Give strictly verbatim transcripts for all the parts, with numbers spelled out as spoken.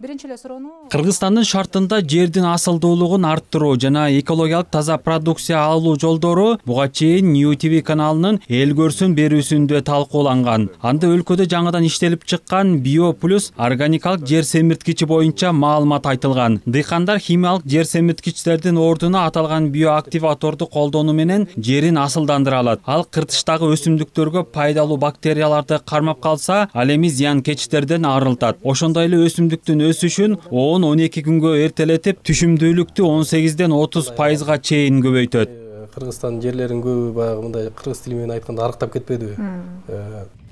Биринчи эле суроону Кыргызстандын шартында жердин асылдуулугун арттыруу жана экологиялык таза продукция алуу жолдору буга чейин New T V каналынын эл көрсүн берүүсүндө талкууланган. Анда өлкөдө жаңыдан иштелип чыккан Bio Plus органикалык жер семирткичи боюнча маалымат айтылган. Дыйкандар химиялык жер семирткичтердин ордуна аталган биоактиваторду колдонуу менен жерин асылдандыра алат. Ал кыртыштагы өсүмдүктөргө пайдалуу бактерияларды кармап калса, ал эми зыянкечтерден арылтат. Ошондой эле өсүмдүктүн өсүшүн он он эки күнгө эртелетип, түшүмдүүлүктү он сегизден отуз пайызга чейин көбөйтөт. Кыргызстандын жерлерин көбү баягы мындай кыргыз тили менен айтканда арыктап кетпедиби?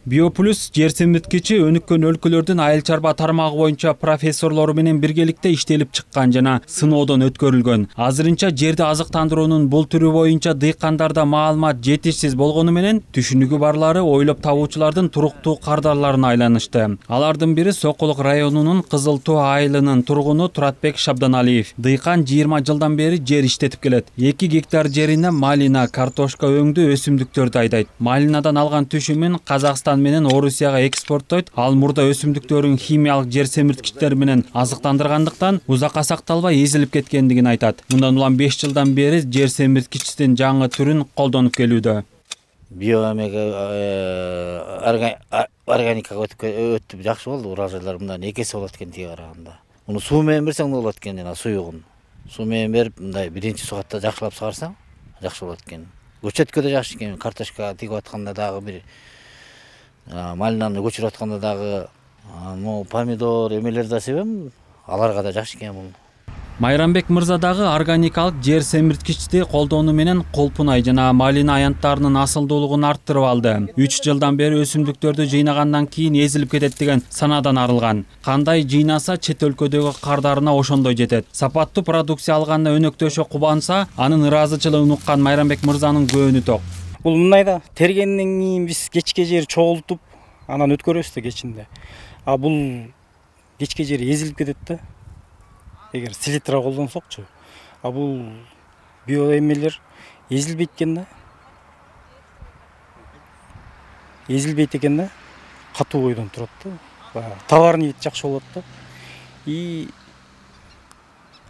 Bio Plus жер семирткичи өнүккөн өлкөлөрдүн айыл чарба тармагы боюнча профессорлору менен биргеликте иштелип чыккан жана сыноодон өткөрүлгөн. Азырынча жерди азыктандыруунун бул түрү боюнча дыйкандарда маалымат жетишсиз болгону менен түшүнүгү барлары ойлоп табуучулардын туруктуу кардарларына айланышты. Алардын бири Сокулук районунун Кызыл Тоо айылынын тургуну Туратбек Шабданалиев. Дыйкан жыйырма жылдан бери жер иштетип келет. эки гектар жерине малина, картошка өңдүү өсүмдүктөрдү айдайт. Малинадан алган түшүмүн Казакстан менен Орусияга экспорттойт. Ал мурда өсүмдүктөрүн химиялык жер семирткичтер менен азыктандыргандыктан узакка сакталбай эзилип кеткендигин айтат. Мындан улам беш жылдан бери жер семирткичтин жаңы түрүн колдонуп келүүдө. Биоэмеге органикага өтүп жакшы болду. Урожайлар мындан эки эсе болот экен тиге караганда. Муну суу менен берсең болот экен, жана суюгун. Суу менен берип, мындай биринчи сугатта жакшылап сыгарсаң, жакшы болот экен. Көчөткө да жакшы экен. Картошка тигип атканда дагы бир малинаны көчүрүп атканда дагы, ну, помидор эмелер да себем, аларга да жакшы экен бул. Майрамбек мырза дагы органикалык жер семирткичти колдонуу менен колпунай жана малина аянттарынын асылдуулугун арттырып алды. үч жылдан бери өсүмдүктөрдү жыйнагандан кийин эзилип кетет деген санаадан арылган. Кандай жыйнаса чет өлкөдөгү кардарына ошондой жетет. Сапаттуу продукция алганына өнөктөшө кубанса, анын ыраазычылыгын уккан Майрамбек мырзанын көөнү ток. Бул мындай да тергенден кийин биз кечке жер чогултуп, анан өткөрөбүз да кечинде. А бул кечке жер эзилип кетет да. Эгер селитра колдонсокчу. А бул биоэмелер эзилбейт экен да. Эзилбейт экен да. Катуу бойдон турат да. Товарный вид жакшы болот да. И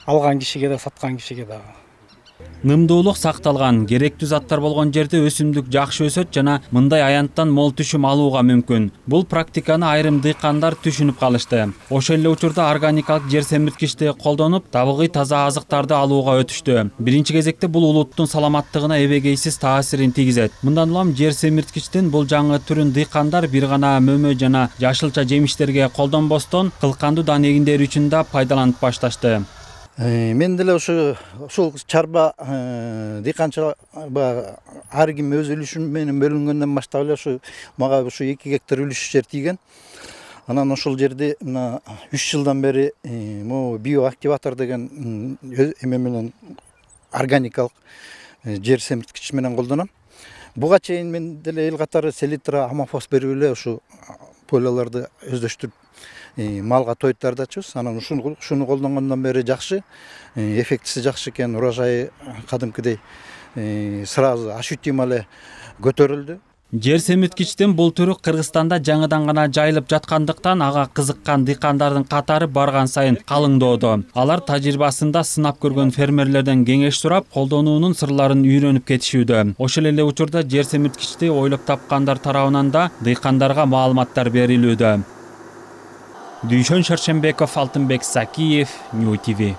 алган кишиге да, саткан кишиге да. Нымдуулук сакталган, керектүү заттар болгон жерде өсүмдүк жакшы өсөт жана мындай аянттан мол түшүм алууга мүмкүн. Бул практиканы айрым дыйкандар түшүнүп калышты. Ошол эле учурда органикалык жер семирткичти колдонуп, табигый таза азыктарды алууга өтүштү. Биринчи кезекте бул улуттун саламаттыгына эбегейсиз таасирин тийгизет. Мындан улам жер семирткичтин бул жаңы түрүн дыйкандар бир гана мөмө жана жашылча жемиштерге колдонбостон, кылкандуу дан эгиндери үчүн да пайдаланып башташты. Мен деле ошо ушул чарба дыйканчылар ар ким өз үлүшү менен бөлүнгөндөн баштап эле ушу мага ушу эки гектар үлүш жер тийген. Анан ошол жерде мына үч жылдан бери могу биоактиватор деген эме менен органикалык жер семирткич менен колдоном. Буга чейин мен деле эл катары селитра, амофос берип эле ушу поляларды өздөштүрүп малга тойтардачыбыз. Анан ушуну ушуну колдонгондон бери жакшы, эффектиси жакшы экен, урожайы кадимкидей сразу ощутимо эле көтөрүлдү. Жер семирткичтин бул түрү Кыргызстанда жаңыдан гана жайылып жаткандыктан ага кызыккан дыйкандардын катары барган сайын калыңдоодо. Алар тажрыйбасында сынап көргөн фермерлерден кеңеш сурап, колдонуунун сырларын үйрөнүп кетишүүдө. Ошол эле учурда жер семирткичти ойлоп тапкандар тарабынан да дыйкандарга маалыматтар берилүүдө. Дүйшөн Шаршембеков, Алтынбек Сакиев, New T V.